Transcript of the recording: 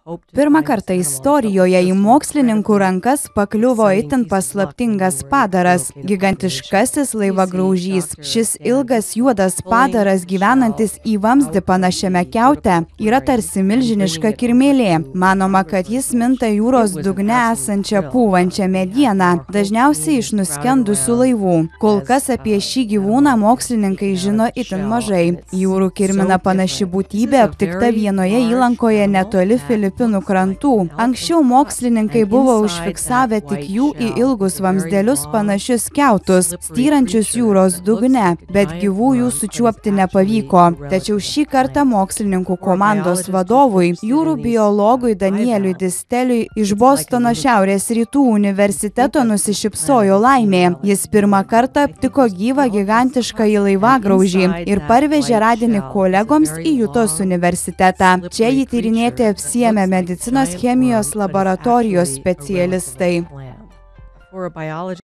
Pirmą kartą istorijoje į mokslininkų rankas pakliuvo itin paslaptingas padaras – gigantiškasis laivagraužys. Šis ilgas juodas padaras, gyvenantis į vamzdį panašiame kiaute, yra tarsi milžiniška kirmėlė. Manoma, kad jis minta jūros dugne esančią pūvančią medieną, dažniausiai iš nuskendusių laivų. Kol kas apie šį gyvūną mokslininkai žino itin mažai. Jūrų kirmina panaši būtybė aptikta vienoje įlankoje netoli Filipinų krantų. Anksčiau mokslininkai buvo užfiksavę tik jų į ilgus vamzdelius panašius kiautus, styrančius jūros dugne, bet gyvų jų sučiuopti nepavyko. Tačiau šį kartą mokslininkų komandos vadovui, jūrų biologui Danieliui Disteliui iš Bostono Šiaurės rytų universiteto nusišypsojo laimė. Jis pirmą kartą aptiko gyvą gigantiškąjį laivagraužį ir parvežė radinį kolegoms į Jutos universitetą. Čia jį tyrinėti apsiėmė medicinos chemijos laboratorijos specialistai.